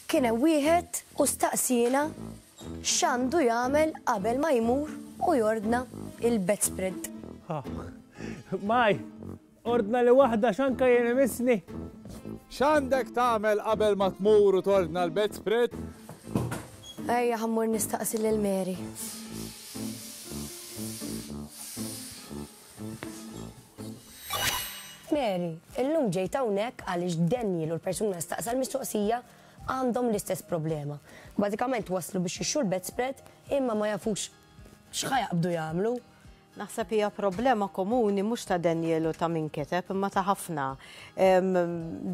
Kien hemm wieħed u staqsiena x'għandu jagħmel qabel ma jmur u jordna il-bedspread. Maj, ordna li waħda x'anka jien imissni. X'għandek tagħmel qabel ma tmur u tordna l-bedspread? Ejja ħa mmur nistaqsi lil Mary. Mary, illum ġejt hawnhekk għaliex Daniel u l-persuna li staqsa l-mistoqsija għandhom l-istess problema. Bażikament waslu biex jixtru l-bedspread imma ma jafux x'ħa jaqbdu jagħmlu. Naħseb hija problema komuni mhux ta' Daniel u ta' min kiteb imma ta' ħafna.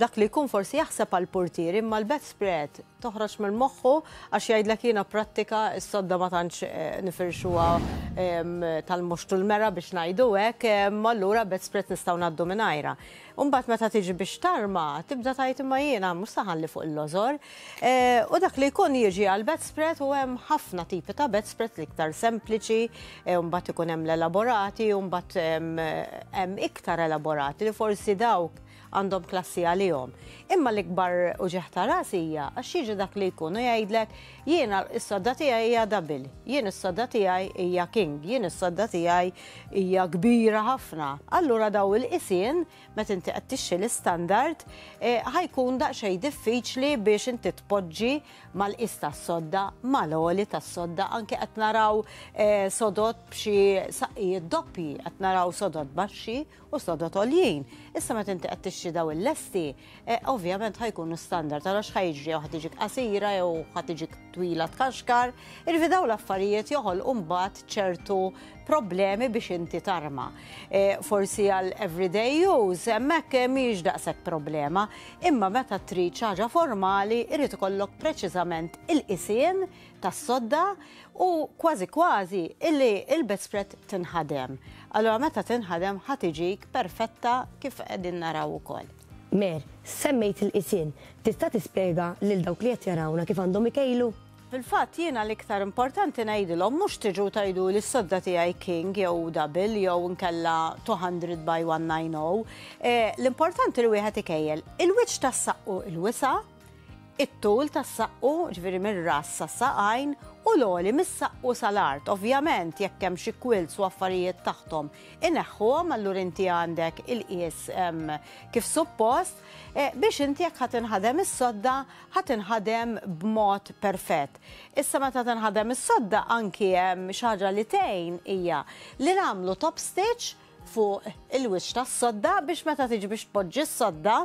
Dak li jkun forsi jaħseb għall-purtieri imma l-bedspread toħroġ minn moħħu għax jgħidlek jiena prattika s-sodda ma tantx nifirxuha tal-moxtu l-mera biex ngħidu hekk, allura bedspread nistgħu ngħaddu mingħajrha. U mbagħad meta tiġi biex tarma, tibda tgħid imma jiena mhux se ħalli fuq il-lożor. U dak li jkun jiġi għal bedspread u hemm ħafna tipi ta' bedspread l-iktar sempliċi, u mbagħad ikun hemm l-elaborati, u mbagħad hemm iktar elaborati li forsi dawk għandhom klassi għalihom. Imma l-ikbar uġigħ ta' ras hija għax jiġi dak li jkun u jgħidlek jiena s-sodda tiegħi hija double, jien is-sodda tiegħi hija king, jien is-sodda tiegħi hija kbira ħafna. Allura daw il-qisien meta inti qed tixtri l-istandard ħa jkun daqsxejn diffiċli biex inti tpoġġi mal-qis tas-sodda, mal-għoli tas-sodda, anke qed naraw sodod b'xi saqqijiet doppji, qed naraw sodod baxxi u sodod għoljin. Issa meta inti qed tixtri daw il-lesti, ovvjament ħa jkunu standard, allura x'ħa jiġri jew ħa tiġik qasira jew ħa tiġik twila tkaxkar, jiġifieri dawn l-affarijiet joħolqu mbagħad ċertu problemi biex inti tarma. Forsi għal everyday use hemmhekk mhijiex daqshekk problema, imma meta trid xi ħaġa formali irid ikollok preċiżament il-qisien tas-sodda u kważi kważi illi il-bedspread tinħadem. Allura meta tinħadem ħa tiġik perfetta kif qegħdin naraw ukoll. Mer, semmejt il-qisien. Tista' tispjega lil dawk li qed jarawna kif għandhom ikejlu? Fil-fatt jiena l-iktar importanti ngħidilhom mhux tiġu tgħidu li s-sodda tiegħi king jew double jew inkella 200 by 190. L-importanti li wieħed ikejjel il-wiċċ tas-saqqu il-wisa', it-tul tas-saqqu, ġifieri mir-ras sas-saqajn, u l-għoli mis-saqqu sal-art. Ovvjament jekk hemm xi quilts u affarijiet taħthom ineħħuhom, allura inti għandek il-qies kif suppost biex inti jekk ħa tinħadem is-sodda ħa tinħadem b'mod perfett. Issa meta tinħadem is-sodda anki hemm xi ħaġa li tgħin hija li nagħmlu top stitch fuq il-wiċċ tas-sodda biex meta tiġi biex tpoġġi s-sodda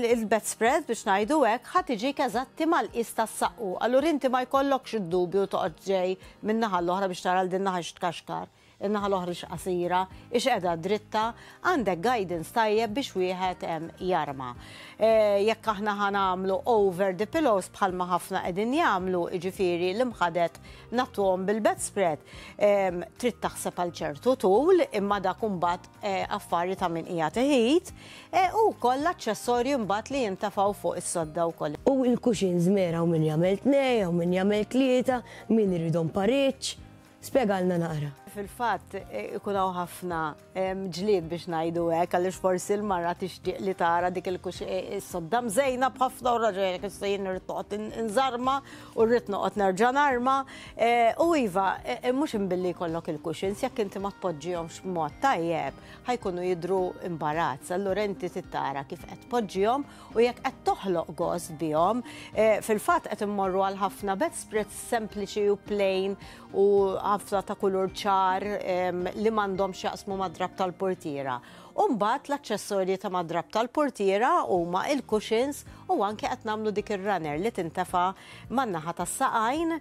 il-bedspread biex ngħidu hekk ħa tiġik eżatti mal-qies tas-saqqu. Allura inti ma jkollokx id-dubju toqgħod ġej min-naħa l-oħra biex tara l din naħa x'tkaxkar, in-naħa l-oħra x'qasira, ix qiegħda dritta, għandek guidance tajjeb biex wieħed jarma. Jekk aħna ħa nagħmlu over the pillows bħalma ħafna qegħdin jagħmlu, jiġifieri l-imħadet nagħtuhom bil-bedspread, trid taħseb għal ċertu tul imma dak imbagħad affari ta' min qiegħed iħit, u wkoll l-aċċessorji mbagħad li jintefgħu fuq is-sodda wkoll. U l-cushions mera hawn min jagħmel tnejn, hawn min jagħmel tlieta, min iridhom pariġġ. Spjegalna naqra. Fil-fatt ikun hawn ħafna ġlied biex ngħidu hekk għaliex forsi l-mara tixtieq li tara dik is-sodda mżejna b'ħafna u raġel jgħidlek issa jien irrid noqgħod inżarma u rrid noqgħod nerġa' narma. U iva, mhux imbilli jkollok il-cushions jekk inti ma tpoġġihomx b'mod tajjeb ħa jkunu jidhru imbarazz. Allura inti trid tara kif qed tpoġġihom u jekk qed toħloq gost bihom. Fil-fatt qed immorru għal ħafna bedspreads sempliċi u plain u ħafna ta' kulur ċar li m'għandhomx jaqsmu mad-drapp tal-portiera. U mbagħad l-aċċessorji ta' mad-drapp tal-portiera huma il-cushions u anke qed nagħmlu dik ir-runner li tintefa' man-naħa tas-saqajn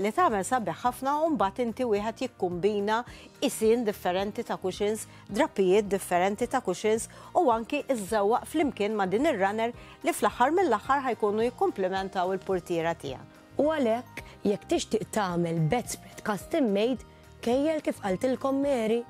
li tagħmel sabiħ ħafna u mbagħad inti wieħed jikkumbina qisien differenti ta' cushions, drappijiet differenti ta' cushions u anki iżżewwaq flimkien ma' din ir-runner li fl-aħħar mill-aħħar ħa jkunu jikkumplimentaw il-portiera tiegħek. U għalhekk, jekk tixtieq tagħmel bedspread custom made, kejjel kif qaltilkom Mary.